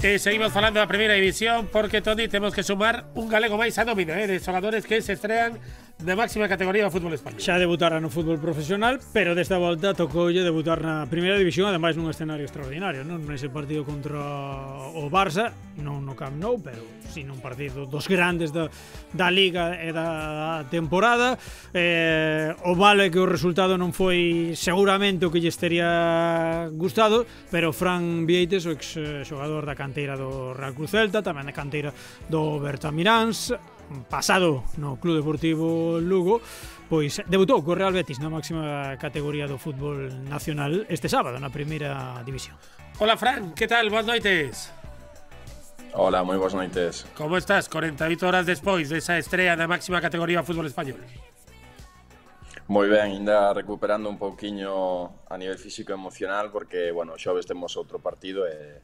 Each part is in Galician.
seguimos falando da primeira división porque, Toni, temos que sumar un galego máis a nómina de xogadores que se estrean na máxima categoría do fútbol español. Xa debutara no fútbol profesional, pero desta volta tocoulle debutar na primeira división, ademais nun escenario extraordinario, non nese partido contra o Barça, non no Camp Nou, pero si nun partido dos grandes da Liga e da temporada. O malo é que o resultado non foi seguramente o que lle estaría gustado, pero Fran Vieites, o ex xogador da canteira do Real Cruz Celta, tamén da canteira do Bertamiráns, pasado no Club Deportivo Lugo, pois debutou co Real Betis na máxima categoría do fútbol nacional este sábado na primeira división. Hola, Fran, que tal? Boas noites. Hola, moi boas noites. Como estás 48 horas despois desa estrea na máxima categoría do fútbol español? Moi ben, ainda recuperando un pouquiño a nivel físico e emocional porque, bueno, xoves temos outro partido e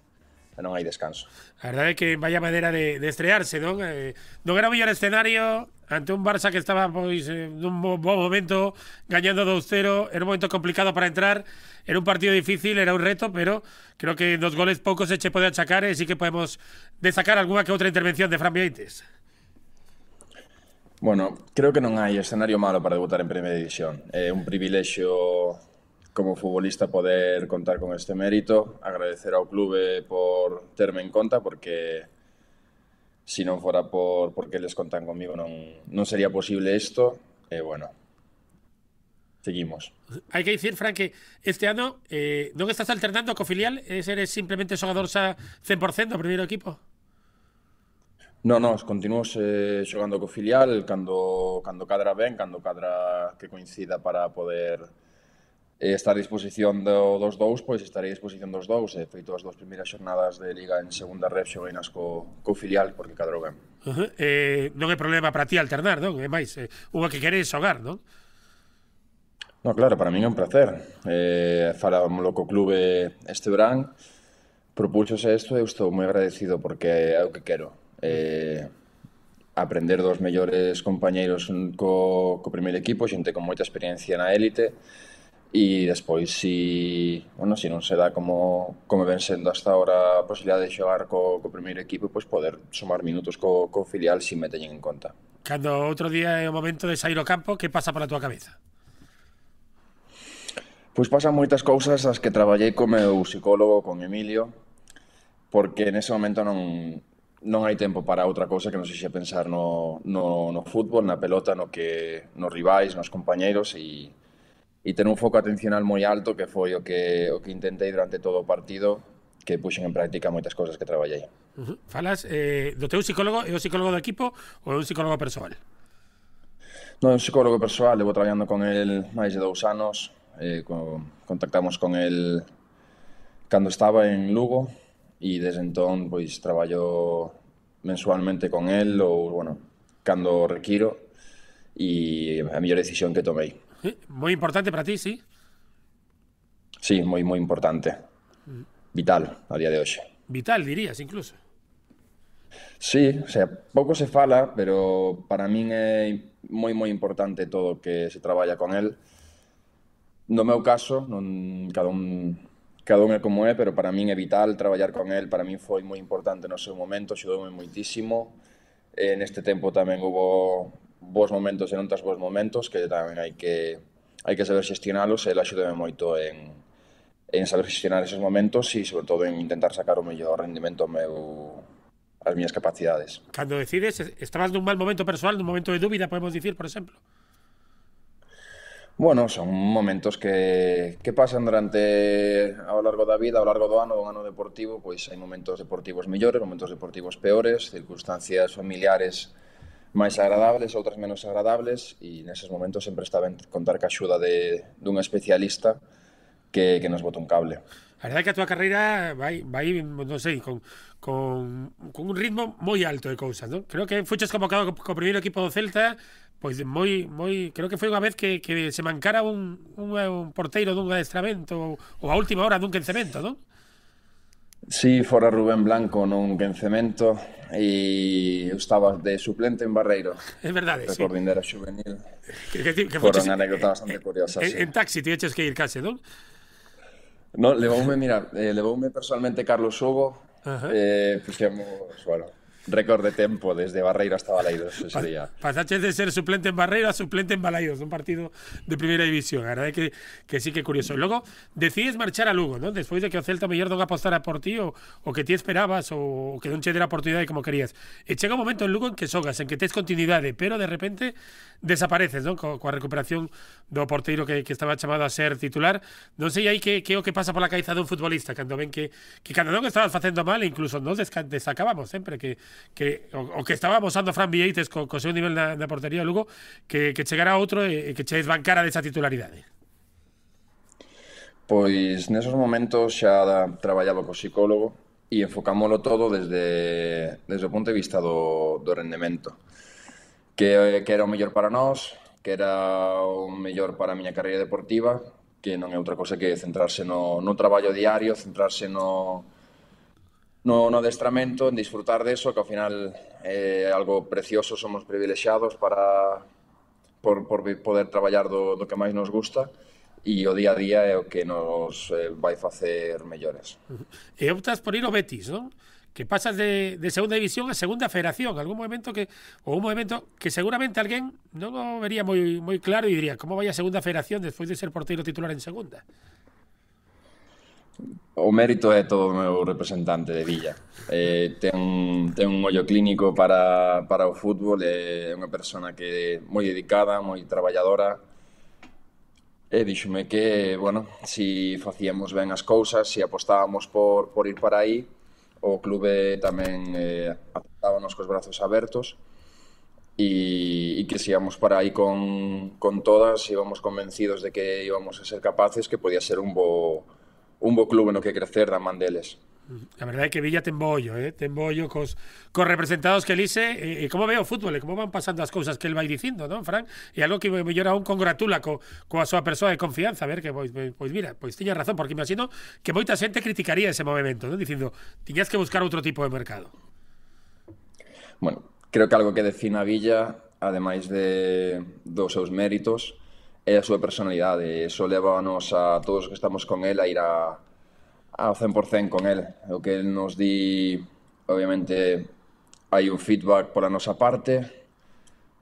non hai descanso. A verdade é que vaya maneira de estrearse, non? Non era o mellor escenario ante un Barça que estaba pois nun bo momento, gañando 2-0, era un momento complicado para entrar, era un partido difícil, era un reto, pero creo que nos goles poucos se che pode achacar e sí que podemos destacar algunha que outra intervención de Fran Vieites. Bueno, creo que non hai escenario malo para debutar en primeira división. É un privilexio como futbolista poder contar con este mérito, agradecer ao clube por terme en conta porque si non fora porque les contan comigo non sería posible isto e bueno, seguimos. Hai que dicir, Fran, que este ano non estás alternando co filial, eres simplemente xogador xa 100% do primeiro equipo? Non, continuo xogando co filial cando cadra ben, cando cadra que coincida para poder estar a disposición dos dous, pois estarei a disposición dos dous. He feito as 2 primeiras xornadas de Liga en segunda ref xogainas co filial porque cadrou ben. Non é problema para ti alternar, non? É máis, unha que queres xogar, non? No, claro, para min é un placer. Falámoslo co clube este verán, propúxose isto e eu estou moi agradecido porque é o que quero. Aprender dos mellores compañeiros co primeiro equipo, xente con moita experiencia na élite. E despois, si non se dá como ven sendo hasta ahora a posibilidade de xogar co primeiro equipo, pois poder sumar minutos co filial si me teñen en conta. Cando outro día é o momento de sair ao campo, que pasa pola tua cabeza? Pois pasan moitas cousas as que traballei co meu psicólogo, con Emilio, porque nese momento non hai tempo para outra cousa que non sexa pensar no fútbol, na pelota, nos rivais, nos compañeiros e ter un foco atencional moi alto que foi o que intentei durante todo o partido, que puxen en práctica moitas cousas que traballei. Falas do teu psicólogo, é o psicólogo do equipo ou é un psicólogo persoal? Non, é un psicólogo persoal, levo traballando con el máis de 2 anos, contactamos con el cando estaba en Lugo e desde entón pois traballo mensualmente con el ou, bueno, cando requiro e a mellor decisión que tomei. Moi importante para ti, sí? Sí, moi importante. Vital a día de hoxe. Vital, dirías, incluso. Sí, o sea, pouco se fala, pero para min é moi importante todo o que se traballa con el. No meu caso, cada un é como é, pero para min é vital traballar con el. Para min foi moi importante no seu momento, axudoume moitísimo. Neste tempo tamén hubo bons momentos e non tas bons momentos, que tamén hai que saber xestionalos, e ele axudame moito en saber xestionar esos momentos e, sobre todo, en intentar sacar o mellor rendimento as miñas capacidades. Cando decides, estabas nun mal momento persoal, nun momento de dúbida, podemos dicir, por exemplo? Bueno, son momentos que pasan ao largo da vida, ao largo do ano deportivo, pois hai momentos deportivos mellores, momentos deportivos peores, circunstancias familiares máis agradables, outras menos agradables, e neses momentos sempre está ben contar ca axuda dun especialista que nos bota un cable. A verdade é que a tua carreira vai non sei, con un ritmo moi alto de cousas, non? Creo que fuches convocado co primeiro equipo do Celta, pois moi creo que foi unha vez que se mancara un porteiro dun adestramento ou a última hora dun quencemento, non? Sí, fora Rubén Blanco nun quencemento e eu estaba de suplente en Barreiro. É verdade, sí. Recordo ainda era juvenil. Que foron anécdota bastante curiosa, sí. En taxi tiveches que ir case, non? No, levoume personalmente Carlos Hugo, Fixemos, bueno, récord de tempo desde Barreiro hasta Baleiros ese día. Pasaches de ser suplente en Barreiro a suplente en Balaídos, un partido de primeira división. A verdade que sí que é curioso. E logo decides marchar a Lugo, ¿no? Despois de que o Celta mellor non apostara por ti o que ti esperabas ou que non che dera oportunidade como querías. E chega un momento en Lugo en que xogas, en que tes continuidade, pero de repente desapareces, ¿no? Coa recuperación do porteiro que estaba chamado a ser titular. Non sei aí que o que pasa pola cabeza dun futbolista cando ven que cando non estabas facendo mal, incluso nos destacábamos sempre que o que estaba amosando Fran Vieites co seu nivel na portería Lugo, que chegara outro e que che desbancara desa titularidade. Pois nesos momentos xa traballaba co psicólogo e enfocámoslo todo desde o punto de vista do rendemento, que era o mellor para nós, que era o mellor para a miña carreira deportiva, que non é outra cosa que centrarse no traballo diario, centrarse no adestramento, en disfrutar deso, que ao final é algo precioso, somos privilexiados por poder traballar do que máis nos gusta, e o día a día é o que nos vai facer mellores. E optas por ir ao Betis, non? Que pasas de segunda división a segunda federación, un movimento que seguramente alguén non o vería moi claro e diría, como vai a segunda federación despois de ser porteiro titular en segunda? O mérito é todo o meu representante de Villa. Ten un ollo clínico para o fútbol, é unha persona que é moi dedicada, moi traballadora, e díxome que, bueno, si facíamos ben as cousas, si apostábamos por ir para aí, o clube tamén aceptábanos cos brazos abertos, e que se íamos para aí con todas, íbamos convencidos de que íbamos a ser capaces, que podía ser un bo clube no que crecer da man deles. A verdade é que Villa ten bo ollo, cos representados que elise, e como ve o fútbol, e como van pasando as cousas que el vai dicindo, non, Fran? E algo que mellor aún congratula coa súa persoa de confianza, a ver, que pois mira, pois tiña razón, porque imagino que moita xente criticaría ese movimento, non? Dicindo, tiñas que buscar outro tipo de mercado. Bueno, creo que algo que define a Villa, ademais dos seus méritos, é a súa personalidade. Eso levanos a todos os que estamos con el a ir ao 100% con el. O que el nos di, obviamente, hai un feedback pola nosa parte,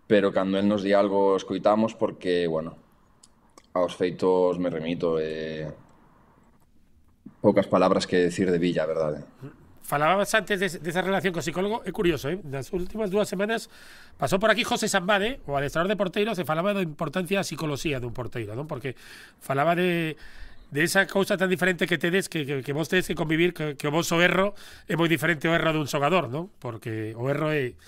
pero cando el nos di algo escoitamos porque, bueno, aos feitos me remito. Poucas palabras que decir de Villa, a verdade. Falabas antes desa relación co psicólogo, é curioso, nas últimas 2 semanas pasou por aquí José Sambade, o adestrador de porteiros, e falaba da importancia da psicología dun porteiro, non? Porque falaba de esa cousa tan diferente que tedes, que vos tedes que convivir, que o vosso erro é moi diferente ao erro dun xogador, non? Porque o erro é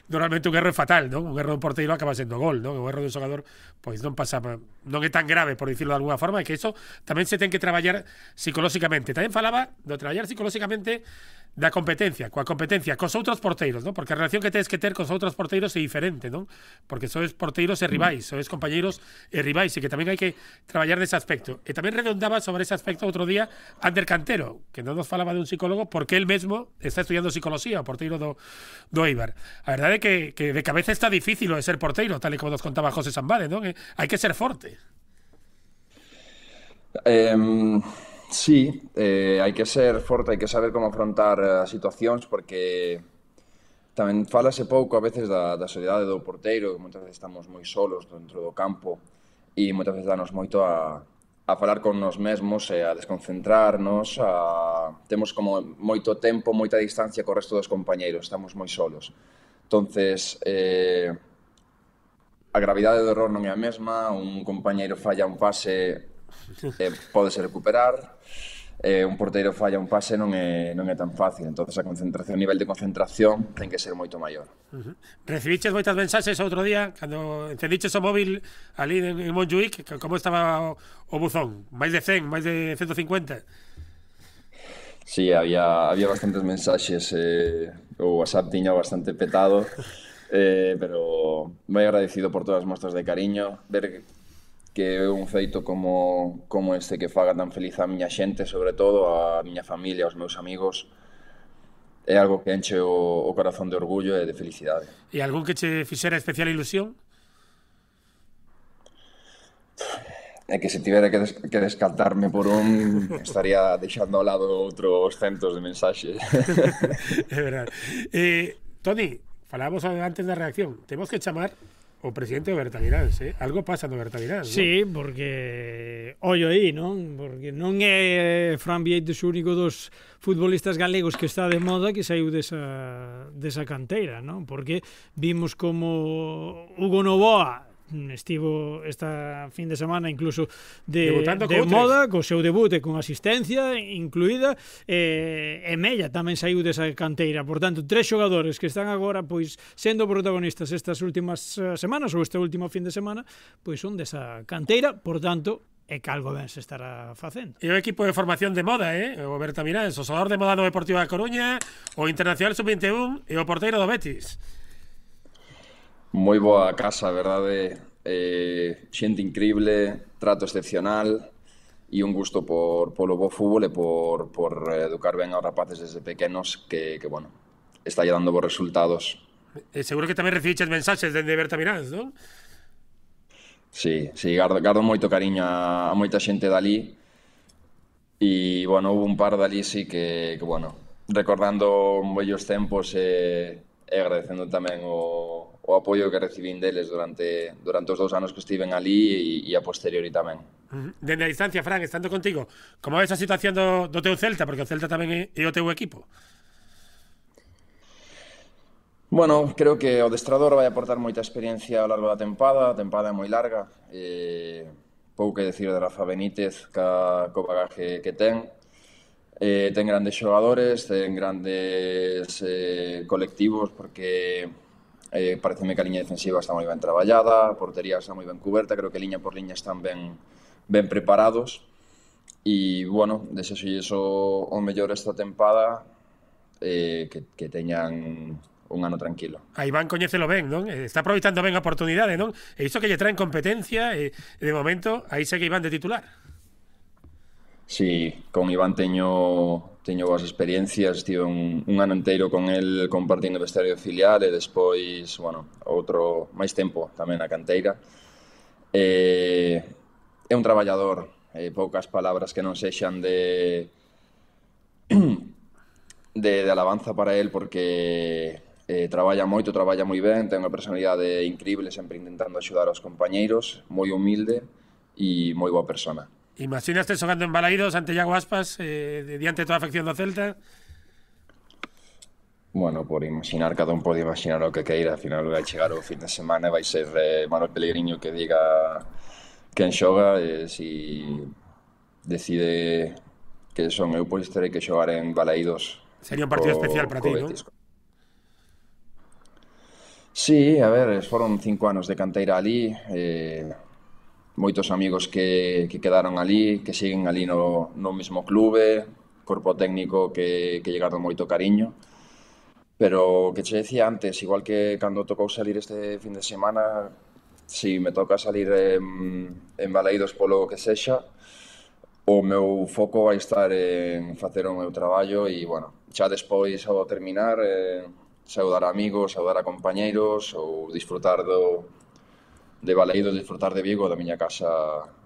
normalmente un erro é fatal, non? Un erro dun porteiro acaba sendo gol, non? O erro dun xogador pois non pasa, non é tan grave, por dicirlo de alguna forma, e que iso tamén se ten que traballar psicolóxicamente. Tamén falaba do traballar psicolóxicamente da competencia, coa competencia cos outros porteiros, non? Porque a relación que tedes que ter cos outros porteiros é diferente, non? Porque sois porteiros e rivais, sois compañeiros e rivais, e que tamén hai que traballar nese aspecto. E tamén redondaba sobre ese aspecto outro día Ander Cantero, que non nos falaba dun psicólogo, porque él mesmo está estudiando psicología, o porteiro do Eibar. A verdade é que de cabeza está difícil o de ser porteiro, tal e como nos contaba José Sambade, non? Hai que ser forte. Sí, hai que ser forte, hai que saber como afrontar as situacións, porque tamén falase pouco a veces da soledade do porteiro, que moitas veces estamos moi solos dentro do campo, e moitas veces danos moito a falar con nos mesmos e a desconcentrarnos, temos como moito tempo, moita distancia co resto dos compañeiros, estamos moi solos. Entonces, a gravidade do error non é a mesma, un compañeiro falla un pase, pódese recuperar, un porteiro falla un pase non é tan fácil, entonces a concentración, o nivel de concentración ten que ser moito maior. Recibiches moitas mensaxes outro día cando encendiches o móvil ali en Montjuic, como estaba o buzón? Máis de 100, máis de 150? Sí, había bastantes mensaxes, o WhatsApp tiña bastante petado, pero moi agradecido por todas as mostras de cariño, ver que é un feito como este que faga tan feliz a miña xente, sobre todo a miña familia, aos meus amigos, é algo que enche o corazón de orgullo e de felicidade. E algún que che fixera especial ilusión? É que se tivera que descartarme por un, estaría deixando ao lado outros centos de mensaxes. É verdade. Toni, falábamos antes da reacción. Temos que chamar o presidente do Bertamiráns, Algo pasa no Bertamiráns, Sí, porque ollo aí, non? Porque non é Fran Vieites o único dos futbolistas galegos que está de moda que saiu desa canteira, non? Porque vimos como Hugo Novoa estivo esta fin de semana incluso de moda, co seu debut e con asistencia incluída, e Mella tamén saiu desa canteira. Por tanto, 3 xogadores que están agora pois sendo protagonistas estas últimas semanas ou este último fin de semana, pois son desa canteira, por tanto, é que algo ben se estará facendo. E o equipo de formación de moda, o Bertamiráns, o xogador de moda no Deportivo da Coruña, o Internacional Sub-21 e o porteiro do Betis. Moi boa casa, verdade? Xente increíble, trato excepcional e un gusto polo bo fútbol e por educar ben aos rapaces desde pequenos que bueno, está dando bons resultados. Seguro que tamén recibiches mensaxes dende Bertamiráns, non? Sí, gardo moito cariño a moita xente dali e, bueno, houve un par dali sí que bueno, recordando vellos tempos e agradecendo tamén o apoio que recibín deles durante os 2 anos que estiven ali e a posteriori tamén. Dende a distancia, Fran, estando contigo, como ves a situación do teu Celta? Porque o Celta tamén é o teu equipo. Bueno, creo que o adestrador vai aportar moita experiencia ao largo da tempada. A tempada é moi larga. Pouco que decir de Rafa Benítez co bagaje que ten. Ten grandes xogadores, ten grandes colectivos, porque pareceme que a liña defensiva está moi ben traballada, a portería está moi ben cuberta, creo que liña por liña están ben preparados e, bueno, desexolles o mellor esta tempada, que teñan un ano tranquilo. A Iván coñécelo ben, non? Está aproveitando ben a oportunidade, non? E iso que lle traen competencia, e de momento aí segue Iván de titular. Sí, con Iván teño boas experiencias, estive un ano inteiro con el compartindo vestiario filial e despois, bueno, outro máis tempo tamén na canteira. É un traballador, poucas palabras que non sexan de alabanza para el, porque traballa moito, traballa moi ben, ten unha personalidade increíble, sempre intentando axudar aos compañeiros, moi humilde e moi boa persona. Imaginaste xogando en Balaídos ante Iago Aspas, diante de toda a afección do Celta? Bueno, por imaginar, cada un pode imaginar o que queira. Al final vai chegar o fin de semana e vai ser Manuel Pellegrini que diga quen xoga, e si decide que son eu, pois terei que xogar en Balaídos. Sería un partido especial para ti, non? Sí, a ver, foron 5 anos de canteira ali, moitos amigos que quedaron ali, que siguen ali no mesmo clube, corpo técnico que lle gardo moito cariño, pero que che decía antes, igual que cando tocou salir este fin de semana, si me toca salir en Balaídos polo que sexa, o meu foco vai estar en facer o meu traballo e, bueno, xa despois ao terminar, saudar a amigos, saudar a compañeiros ou disfrutar de Balaídos, disfrutar de Vigo, da miña casa,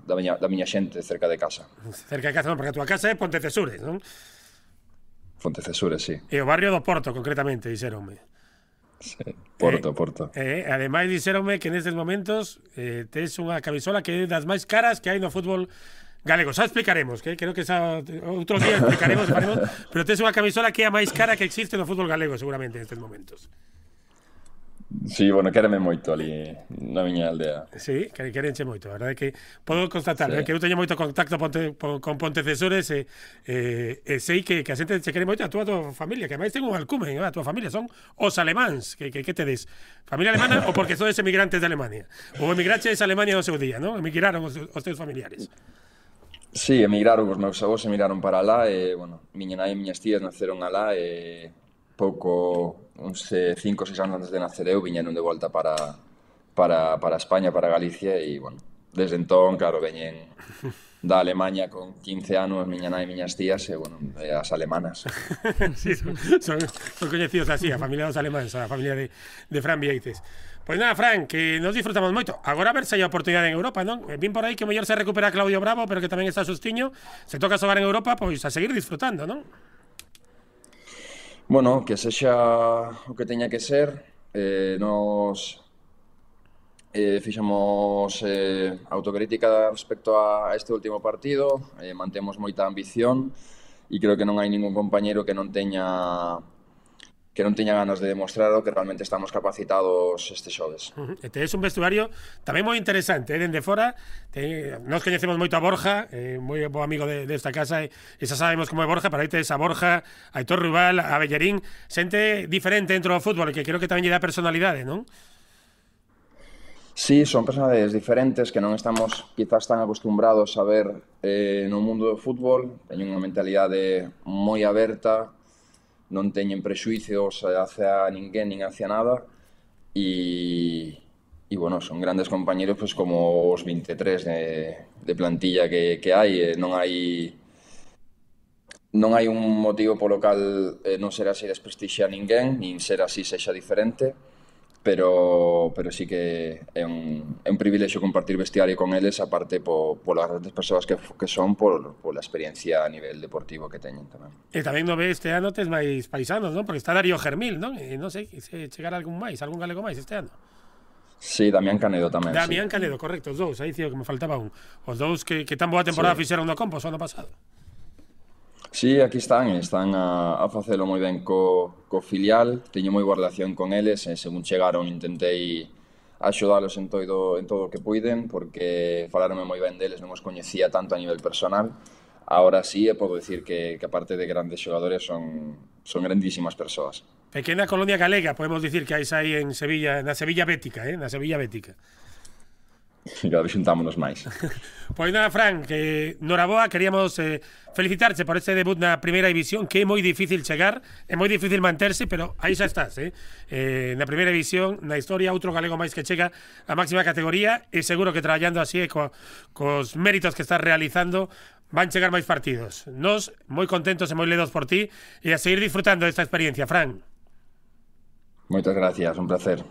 da miña xente cerca de casa. Cerca de casa, non, porque a túa casa é Pontecesures, non? Pontecesures, sí. E o barrio do Porto, concretamente, dixeronme. Sí, Porto. Ademais, dixeronme que nestes momentos tes unha camisola que é das máis caras que hai no fútbol galego. Xa explicaremos, que creo que outro día explicaremos, pero tes unha camisola que é a máis cara que existe no fútbol galego, seguramente, nestes momentos. Sí, bueno, quéreme moito ali na miña aldea. Sí, querenche moito. A verdade é que podo constatar, sí, que eu teño moito contacto con Pontecesores e sei que a xente che quere moito a túa familia, que ademais ten un alcume, a túa familia son os alemáns, que tedes familia alemana ou porque sodes emigrantes de Alemania, ou emigraches a Alemania no seu día, non? Emigraron os teus familiares. Sí, emigraron, os meus avós emigraron para alá e, bueno, miña nai e miñas tías naceron alá e pouco, uns 5 ou 6 anos antes de nacer eu, viñeron de volta para España, para Galicia e, bueno, desde entón, claro, veñen da Alemanha con 15 anos, miña nai e miñas tías, e, bueno, as alemanas. Sí, son coñecidos así, a familia dos alemáns, a familia de Fran Vieites. Pois nada, Fran, que nos disfrutamos moito. Agora a ver se hai oportunidade en Europa, non? Vin por aí que o mellor se recupera Claudio Bravo, pero que tamén está Sustiño. Se toca xogar en Europa, pois a seguir disfrutando, non? Bueno, que sexa o que teña que ser. Nos fixemos autocrítica respecto a este último partido, mantemos moita ambición e creo que non hai ningún compañeiro que non teña ganas de demostrar o que realmente estamos capacitados este xoves. E tes un vestuario tamén moi interesante, dende fora. Nos coñecemos moito a Borja, moi bo amigo desta casa, e xa sabemos como é Borja, pero aí tes a Borja, a Aitor Rubal, a Bellerín, xente diferente dentro do fútbol, que creo que tamén lle dá personalidade, non? Sí, son personalidades diferentes que non estamos quizás tan acostumbrados a ver no mundo do fútbol. Teñen unha mentalidade moi aberta, non teñen prexuicios hacia ninguén nin hacia nada e bueno, son grandes compañeros pues, como os 23 de plantilla que hai. Non hai un motivo polo cal non ser así desprestixiar ninguén, nin ser así sexa diferente, pero sí que é un privilexio compartir vestiario con eles, aparte polas grandes persoas que son, pola experiencia a nivel deportivo que teñen tamén. E tamén no ve este ano tes máis paisanos, non? Porque está Darío Germil, non? E non sei se chegar algún galego máis este ano. Sí, Damián Canedo tamén. Damián Canedo, correcto, os dous, aí dicía que me faltaba un. Os dous que tan boa temporada fixeron no Compos o ano pasado. Sí, aquí están a facelo moi ben co filial, teño moi boa relación con eles, e según chegaron intentei axudalos en todo o que puiden, porque falaronme moi ben deles, non os coñecía tanto a nivel personal. Ahora sí, podo dicir que aparte de grandes xogadores son grandísimas persoas. Pequena colonia galega, podemos dicir que hai aí en Sevilla, na Sevilla Bética, na Sevilla Bética. Claro, xuntámonos máis. Pois nada, Fran, que noraboa, queríamos felicitarche por este debut na primeira división, que é moi difícil chegar, é moi difícil manterse, pero aí xa estás, na primeira división, na historia, outro galego máis que chega a máxima categoría, e seguro que traballando así cos méritos que estás realizando, van chegar máis partidos. Nos, moi contentos e moi ledos por ti, e a seguir disfrutando desta experiencia, Fran. Moitas gracias, un placer.